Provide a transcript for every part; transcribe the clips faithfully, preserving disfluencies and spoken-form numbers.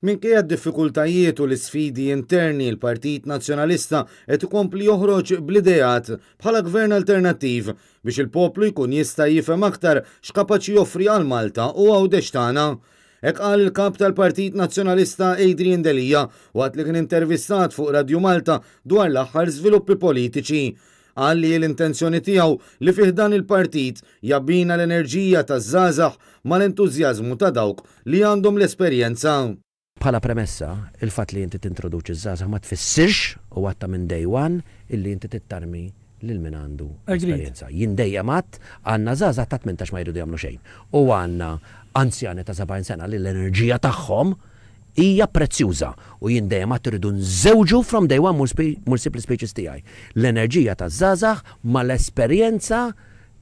Minkejja d-diffikultajiet u l-isfidi interni, il-Partit Nazzjonalista qed ikompli joħroġ bl-ideat bħala gvern alternattiv biex il-poplu jkun jista' jifhem aktar x'kapaċi joffri għal Malta u Għawdex tagħna. Hekk qal il-kap tal-Partit Nazzjonalista Adrian Delia waqt li kien intervistat fuq Radio Malta dwar l-aħħar żviluppi politiċi. Qal li l-intenzjoni tiegħu li fih dan il-partit jabbina l-enerġija taż-żgħażagħ mal-entużjażmu ta' dawk li għandhom l-esperjenza. Bħala premessa, il-fatt li inti tintroduċi ż-żgħażagħ ma tfissirx, u għedtha minn day one, illi inti tittarmi lil min għandu esperjenza. Jien dejjem għedt, għandna żgħażagħ ta' tmintax ma jridu jagħmlu xejn. U għandna anzjani ta' sebgħin sena li l-enerġija tagħhom hija prezzjuża, u jien dejjem għedt irridu nżewġu from day one, mur sib l-speeches tiegħi, l-enerġija taż-żgħażagħ mal-esperjenza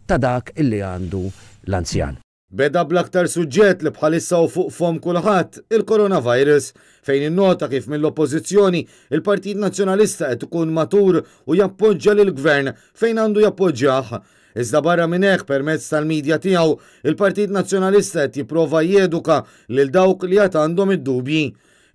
ta' dak illi għandu l-anzjan. Beda bl-aktar suġġett li bħalissa hu fuq fomm kulħadd, il-coronavirus, fejn innota kif mill-oppożizzjoni il-Partit Nazzjonalista qed ikun matur u jappoġġja lill-gvern fejn għandu jappoġġjah. Iżda barra minn hekk, permezz tal-medja tiegħu, il-Partit Nazzjonalista qed jipprova jeduka lil dawk li għad għandhom id-dubji.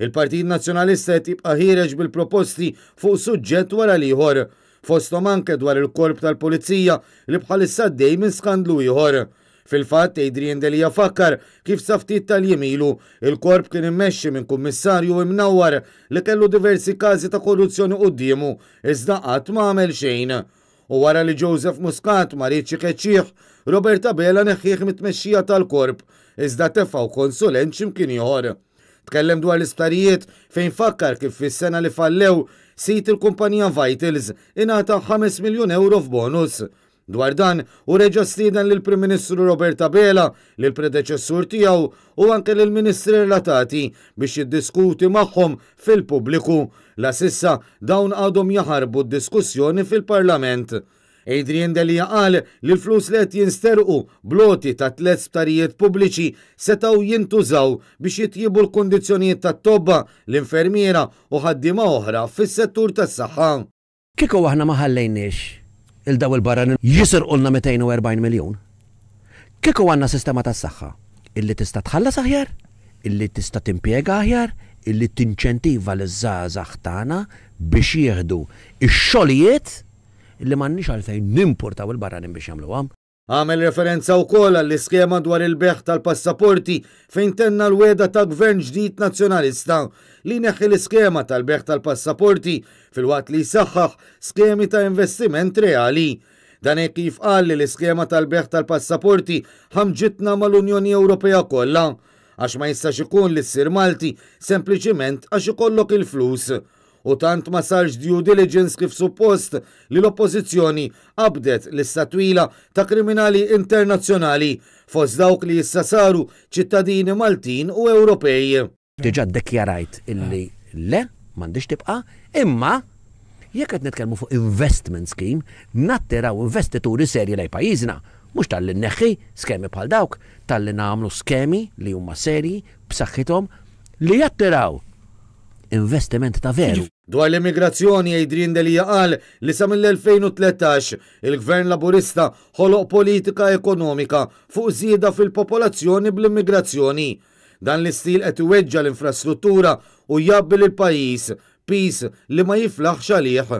Il-Partit Nazzjonalista qed jibqa' ħiereġ bil-proposti fuq suġġett wara l-ieħor, fosthom anke dwar il-korp tal-Pulizija li bħalissa għaddej minn skandlu ieħor. Fil-fatt, Adrian Delia fakkar kif sa ftit tal-jiem ilu il-korp kien immexxi minn kummissarju imnawwar li kellu diversi każi ta' korruzzjoni quddiemu, iżda qatt ma għamel xejn. U wara li Joseph Muscat ma riedx ikeċċih, Robert Abela neħħih mit-tmexxija tal-korp, iżda tefgħu konsulent x'imkien ieħor. Tkellem dwar l-isptarijiet, fejn fakkar kif fis-sena li fallew sid il-kumpanija Vitals ingħata ħames miljun euro f'bonus. Dwar dan, u reġa' stieden lill-Prim Ministru Robert Abela, lill predeċessur tiegħu u anke lill-ministri relatati biex jiddiskuti magħhom fil-pubbliku. La s'issa dawn għadhom jaħarbu d-diskussjoni fil-Parlament. Adrian Delia qal li l-flus li qed jinsterqu bl-għoti ta' tliet sptarijiet pubbliċi setgħu jintużaw biex jitjibu l-kundizzjonijiet tat-tobba, l-infermiera u ħaddiema oħra fis-settur tas-saħħa. Kieku aħna ma ħallejniex lil dawn il-barranin jisirqulna mitejn u erbgħin miljun, kieku għandna sistema tas-saħħa illi tista' tħallas aħjar, illi tista' timpjega aħjar, illi tinċentiva l-żgħażagħ tagħna biex jieħdu ix-xogħlijiet illi m'għandniex għalfejn nimportaw il-barranin biex jagħmluhom. Għamel referenza wkoll għall-iskema dwar il-bejgħ tal-passaporti, fejn tenna l-wegħda ta' gvern ġdid nazzjonalista li jneħħi l-iskema tal-bejgħ tal-passaporti filwaqt li jsaħħaħ skemi ta' investiment reali. Dan hekk kif qal li l-iskema tal-bejgħ tal-passaporti ħamġitna mal-Unjoni Ewropea kollha, għax ma jistax ikun li ssir Malti sempliċiment għax ikollok il-flus. U tant ma sarx due diligence kif suppost li l-oppożizzjoni qabdet lista twila ta' kriminali internazzjonali fost dawk li issa saru ċittadini Maltin u Ewropej. Diġà ddikjarajt illi le, m'għandix tibqa', imma jekk qed nitkellmu fuq investment scheme, nattiraw investituri serji lejn pajjiżna, mhux talli nneħħi skemi bħal dawk, talli nagħmlu skemi li huma serji, b'saħħithom, li jattiraw investiment ta' veru. Dwar l-immigrazzjoni, Adrian Delia qal li sa mill-elfejn u tlettax il-Gvern Laburista ħoloq politika ekonomika fuq żieda fil-popolazzjoni bl-immigrazzjoni. Dan l-istil qed iweġġa l-infrastruttura u jgħabbi lill-pajjiż piż li ma jiflaħx għalih.